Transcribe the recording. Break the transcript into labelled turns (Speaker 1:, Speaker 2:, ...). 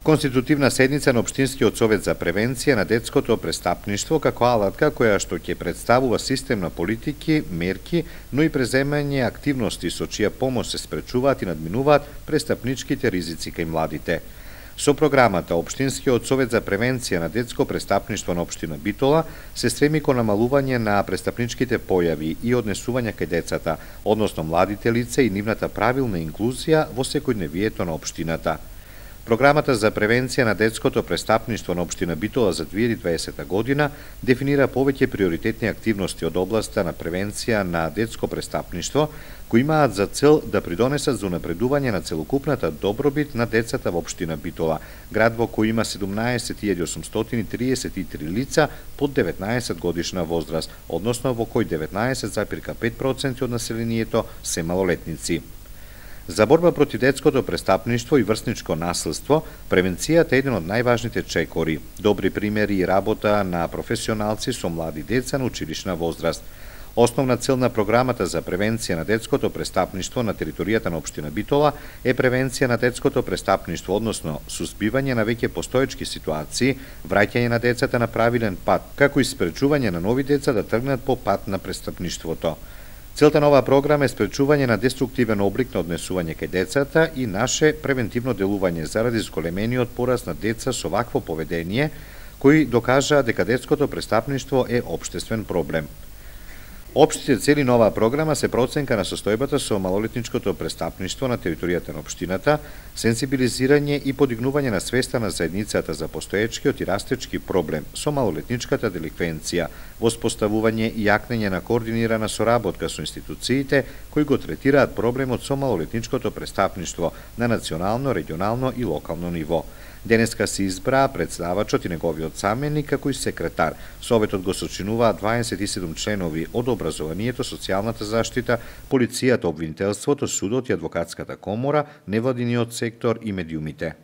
Speaker 1: Конститутивна седница на Општинскиот совет за превенција на детското престапништво како алатка која што ќе представува систем на политики, мерки, но и преземање активности со чија помош се спречуваат и надминуваат престапничките ризици кај младите. Со програмата Општинскиот совет за превенција на детско престапништво на општина Битола се стреми кон намалување на престапничките појави и однесување кај децата, односно младите лица и нивната правилна инклузија во секојдневието на општината. Програмата за превенција на детското престапништво на општина Битола за 2020 година дефинира повеќе приоритетни активности од областа на превенција на детско престапништво, кои имаат за цел да придонесат за унапредување на целокупната добробит на децата во општина Битола, град во кој има 17.833 лица под 19 годишна возраст, односно во кој 19,5% од населението се малолетници. За борба против детското престапништво и врсничко насилство, превенцијата е еден од најважните чекори. Добри примери и работа на професионалци со млади деца на училишна возраст. Основна цел на програмата за превенција на детското престапништво на територијата на општина Битола е превенција на детското престапништво, односно суспивање на веќе постоечки ситуации, враќање на децата на правилен пат, како и спречување на нови деца да тргнат по пат на престапништвото. Целта на оваа програма е спречување на деструктивен облик на однесување кај децата и наше превентивно делување заради зголемениот пораст на деца со вакво поведение, кои докажаа дека детското престапништво е општествен проблем. Општите цели на оваа програма се проценка на состојбата со малолетничкото престапништво на територијата на општината, сензибилизирање и подигнување на свеста на заедницата за постоечкиот и растечки проблем со малолетничката деликвенција, воспоставување и јакнење на координирана соработка со институциите кои го третираат проблемот со малолетничкото престапништво на национално, регионално и локално ниво. Денеска се избраа председавачот и неговиот заменик како и секретар. Советот го сочинуваат 27 членови од образованието, социјалната заштита, полицијата, обвинителството, судот и адвокатската комора, невладиниот сектор и медиумите.